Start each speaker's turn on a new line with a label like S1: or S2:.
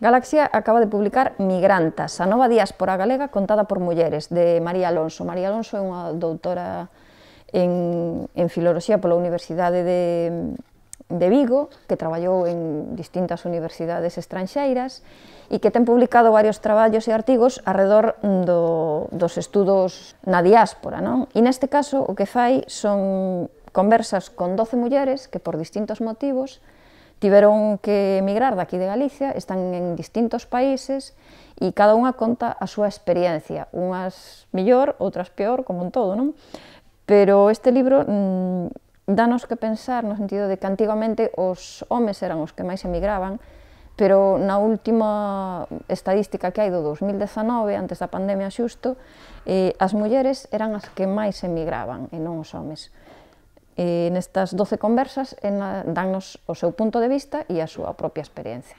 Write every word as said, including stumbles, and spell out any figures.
S1: Galaxia acaba de publicar Migrantas, a nova diáspora galega contada por mulleres, de María Alonso. María Alonso é unha doutora en, en Filoloxía pola Universidade de, de Vigo, que traballou en distintas universidades estranxeiras e que ten publicado varios traballos e artigos arredor do, dos estudos na diáspora, non? E neste caso o que fai son conversas con doce mulleres que por distintos motivos tiveron que emigrar daqui de Galicia, están en distintos países e cada unha conta a súa experiencia, unhas mellor, outras peor, como en todo, non? Pero este libro mmm, danos que pensar no sentido de que antigamente os homes eran os que máis emigraban, pero na última estadística que hai do dos mil dezanove, antes da pandemia xusto, eh, as mulleres eran as que máis emigraban e non os homes. E nestas doce conversas dannos o seu punto de vista e a súa propia experiencia.